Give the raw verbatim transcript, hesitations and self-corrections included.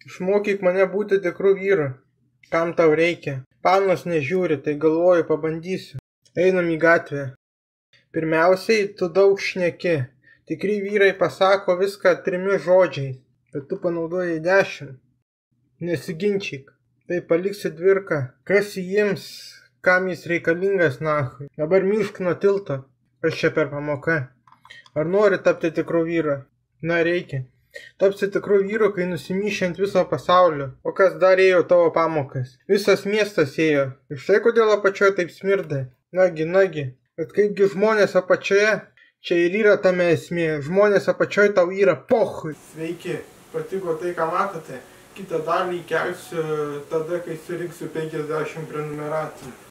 Išmokyk mane būti tikru vyru. Kam tau reikia? Panos nežiūri, tai galvoju, pabandysiu. Einam į gatvę. Pirmiausiai, tu daug šneki. Tikri vyrai pasako viską trimis žodžiais, bet tu panaudojai dešimt. Nesiginčyk. Tai paliksi dvirką. Kas įims, kam jis reikalingas nahui. Dabar myšk nuo tilto. Kas čia per pamoka? Ar nori tapti tikru vyru? Na, reikia. Tapsi tikru vyru, kai nusimyši ant viso pasaulio. O kas dar ėjo tavo pamokas? Visas miestas ėjo. Ir štai kodėl apačioje taip smirda. Nagi, nagi. Bet kaipgi žmonės apačioje? Čia ir yra tame esmė. Žmonės apačioje tau yra pochui. Sveiki. Patiko tai, ką matote? Kitą dalį kelsiu tada, kai surinksiu penkiasdešimt prenumeratų.